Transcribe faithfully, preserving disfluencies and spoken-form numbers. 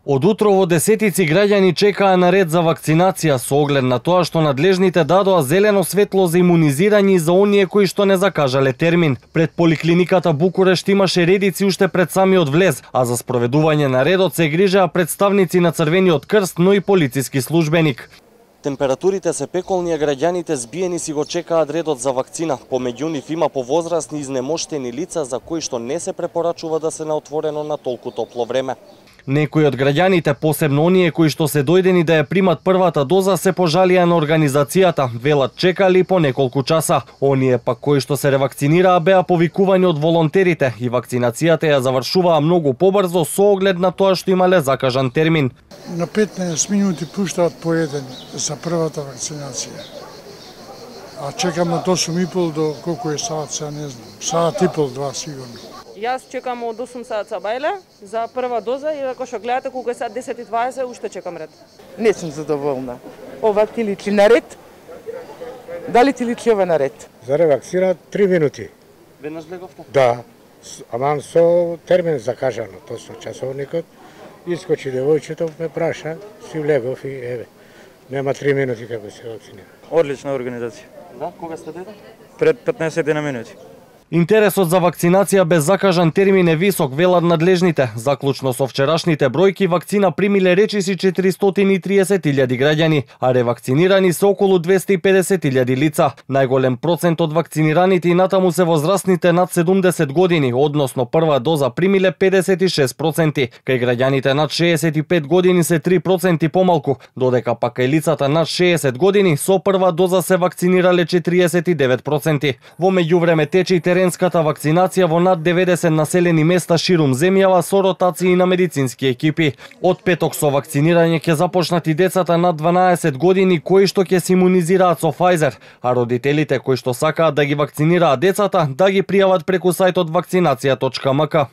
Од утро во десетици граѓани чекаа на ред за вакцинација со оглед на тоа што надлежните дадоа зелено светло за имунизирање и за оние кои што не закажале термин. Пред поликлиниката Букурешт имаше редици уште пред самиот влез, а за спроведување на редот се грижеа представници на Црвениот крст, но и полициски службеник. Температурите се пеколни, а граѓаните збиени си го чекаат редот за вакцина. Помеѓу нив има повозрасни изнемоштени лица за кои што не се препорачува да се на отворено на толку топло време. Некои од граѓаните, посебно оние кои што се дојдени да ја примат првата доза, се пожалија на организацијата. Велат чекали по неколку часа. Оние пак кои што се ревакцинираа беа повикувани од волонтерите и вакцинацијата ја завршуваа многу побрзо со оглед на тоа што имале закажан термин. На петнаесет минути пуштаат по еден за првата вакцинација. А чекам од осум и пол до колку е саат, сега не знам. Саат и пол, два сигурно. Јас чекам од осум саат бајле за прва доза и ако што гледате колку е саат десет и дваесет, уште чекам ред. Не сум задоволна. Ова ти личи на ред? Дали ти личи ова на ред? За ревакцина три минути. Веднаш влеговте? Да, аман со термин закажано, то со часовникот. Искочи девојчето, ме праша, си влегов и еве. Нема три минути како се вакцинира. Одлична организација. Да, кога сте деда? Пред петнаесет минути. Интересот за вакцинација без закажан термин е висок, велат надлежните. Заклучно со вчерашните бројки, вакцина примиле речиси четиристотини и триесет илјади граѓани, а ревакцинирани се околу двесте и педесет илјади лица. Најголем процент од вакцинираните и натаму се возрастните над седумдесет години, односно прва доза примиле педесет и шест проценти. Кај граѓаните над шеесет и пет години се три проценти помалку, додека пак кај лицата над шеесет години со прва доза се вакцинирале четириесет и девет проценти. Во меѓувреме тече и теренската вакцинација во над деветдесет населени места ширум земјава со ротации на медицински екипи. Од петок со вакцинирање ќе започнат и децата над дванаесет години кои што ќе се имунизираат со Pfizer, а родителите кои што сакаат да ги вакцинираат децата да ги пријават преку сајтот вакцинација точка ем ка.